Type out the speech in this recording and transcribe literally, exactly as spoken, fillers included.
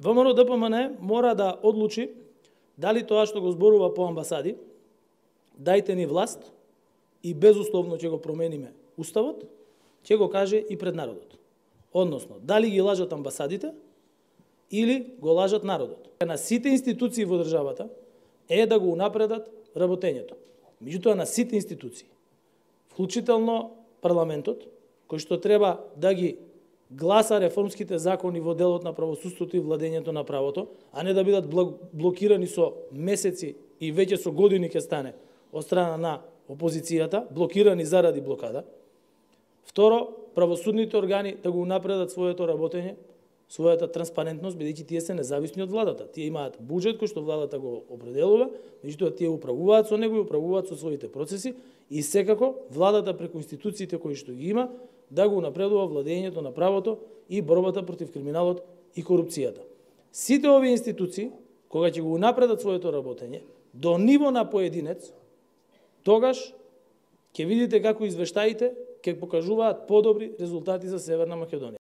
ВМРО Д П М Н мора да одлучи дали тоа што го зборува по амбасади, дајте ни власт и безусловно ќе го промениме уставот, ќе го каже и пред народот. Односно, дали ги лажат амбасадите или го лажат народот. На сите институции во државата е да го унапредат работењето. Меѓутоа на сите институции, вклучително парламентот, кој што треба да ги гласа реформските закони во делот на правосудството и владењето на правото, а не да бидат блокирани со месеци и веќе со години ќе стане од страна на опозицијата, блокирани заради блокада. Второ, правосудните органи да го унапредат своето работење, својата транспарентност, бидејќи тие се независни од владата. Тие имаат буџет кој што владата го определува, меѓутоа тие управуваат со него и управуваат со своите процеси и секако владата преку институциите кои што ги има да го напредува владењето на правото и борбата против криминалот и корупцијата. Сите овие институции, кога ќе го напредат своето работење до ниво на поединец, тогаш ќе видите како извештаите ќе покажуваат подобри резултати за Северна Македонија.